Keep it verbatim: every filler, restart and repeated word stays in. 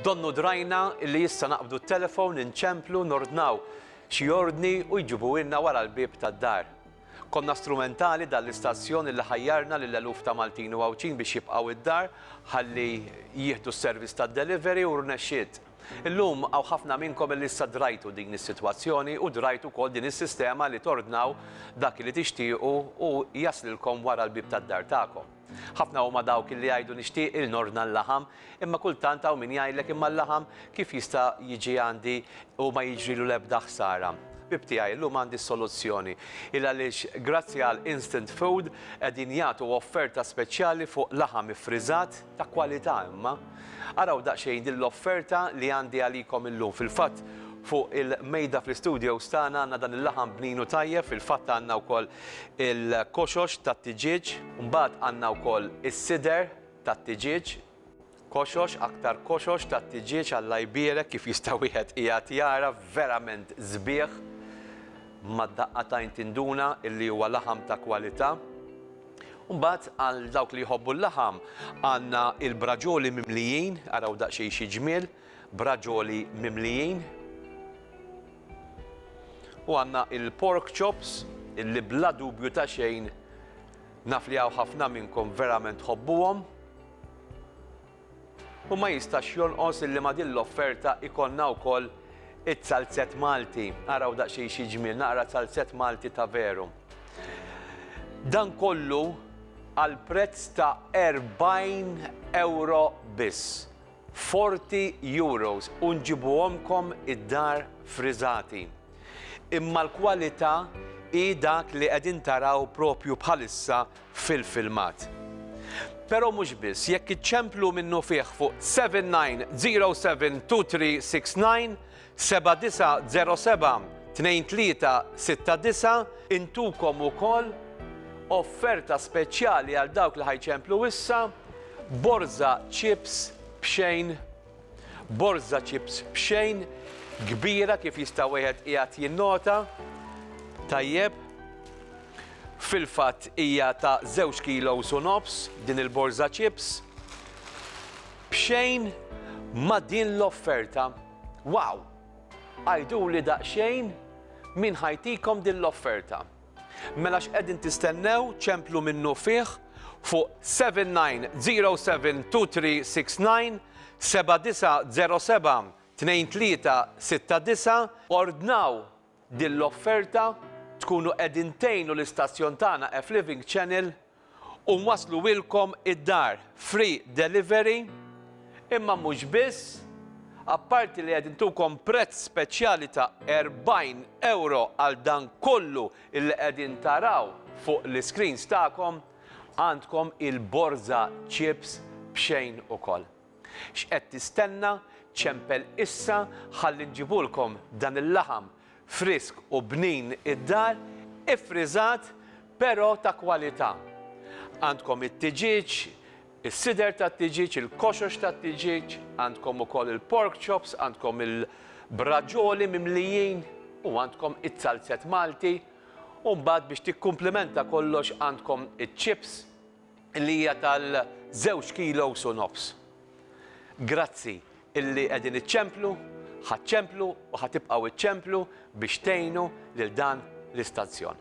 Donnu drajna illi issa naqbdu t-telefon, inċemplu, nordnaw xi ordni u jġibuhielna wara l-bieb tad-dar. Konna strumentali dal-istazzjon illi ħajjarna lil eluf ta' Maltin u Għawdxin biex jibqgħu id-dar ħalli jieħdu s-servizz tad-delivery u rnexxiet. Illum hawn ħafna minnkom illi issa drajtu din is-sitwazzjoni u drajtu wkoll din is-sistema li tordnaw dak li tixtiequ u jaslilkom wara l-bieb tad-dar tagħkom. Ħafna huma dawk li jgħidu nixtieq il nordna l-laħam, imma kultant hawn min jgħidlek imma l-laħam kif jista' jiġi għandi u ma jiġrilu l-ebda ħsara. Ħbieb tiegħi, llum għandi soluzzjoni. Il għaliex grazzi għal Instant Food qegħdin jagħtu offerta speċjali fuq laħam iffriżat ta' kwalità imma. Araw daqsxejn din l-offerta li għandi għalikom illum. Fil-fatt fuq il-mejda fl-studio tagħna għandna dan il-laħam bninu tajjeb, fil-fatt għandna wkoll il-koxox tat-tiġieġ, mbagħad għandna wkoll is-sider tat-tiġieġ, koxox, aktar koxox tat-tiġieġ Alla jbierek kif jista' wieħed qiegħed jara verament sbieħ mad-daqqa t'għajn tinduna illi huwa laħam ta' kwalità. Mbagħad għal dawk li jħobbu l-laħam għandna il-braġoli mimlijin, araw daqsxejn xi ġmiel, braġoli mimlijin. U għandna il-pork chops illi bla dubju ta' xejn naf li hawn ħafna minnkom verament tħobbuhom. U ma jistax jonqos illi ma' din l-offerta ikollna wkoll it-zalzett Malti. Araw daqsxejn xi ġmiel, naqra zalzett Malti ta' veru. Dan kollu għal prezz ta' erbgħin euro biss. forty euros u nġibuhomkom id-dar friżati. Imma l-kwalità hi dak li qegħdin taraw propju bħalissa fil-filmat. Però mhux biss, jekk iċċemplu minnufih fuq seven nine zero seven two three six nine, seba' disa' zero seba' tnejn tlieta sitta disa', intukom ukoll offerta speċjali għal dawk li ħa jċemplu issa, borza chips b'xejn, borza chips b'xejn, kbira kif jista' wieħed qiegħed jinnota. Tajjeb, fil-fatt hija ta' żewġ kilos u nofs din il-borza chips. B'xejn ma' din l-offerta. Wow! Għiduli daqsxejn min ħa jtikom din l-offerta. Mela x'qegħdin tistennew? Ċemplu minnufih fuq seven nine zero seven two three six nine, seba' disa' zero seba' tnejn tlieta sitta disa', ordnaw din l-offerta, tkunu qegħdin tgħinu l-istazzjon tagħna F Living Channel u wasluhielkom id-dar, free delivery. Imma mhux biss, apparti li qegħdin intukom prezz speċjali ta' erbgħin euro għal dan kollu illi qegħdin taraw fuq l-screens tagħkom, għandkom il-borza chips b'xejn ukoll. X'qed tistenna? Ċempel issa ħalli nġibulkom dan il-laħam frisk u bnin id-dar, ifriżat però ta' kwalità. Għandkom it-tiġieġ, is-sider tat-tiġieġ, il-koxox tat-tiġieġ, għandkom ukoll il-pork chops, għandkom il-braġoli mimlijin u għandkom it-zalzett Malti. U mbagħad biex tikkumplimenta kollox għandkom iċ-chips li hija tal-żewġ kilos u nofs. Grazzi illi qegħdin iċċemplu, ħa ċċemplu u ħa tibqgħu iċċemplu biex tgħinu lil dan l-istazzjon.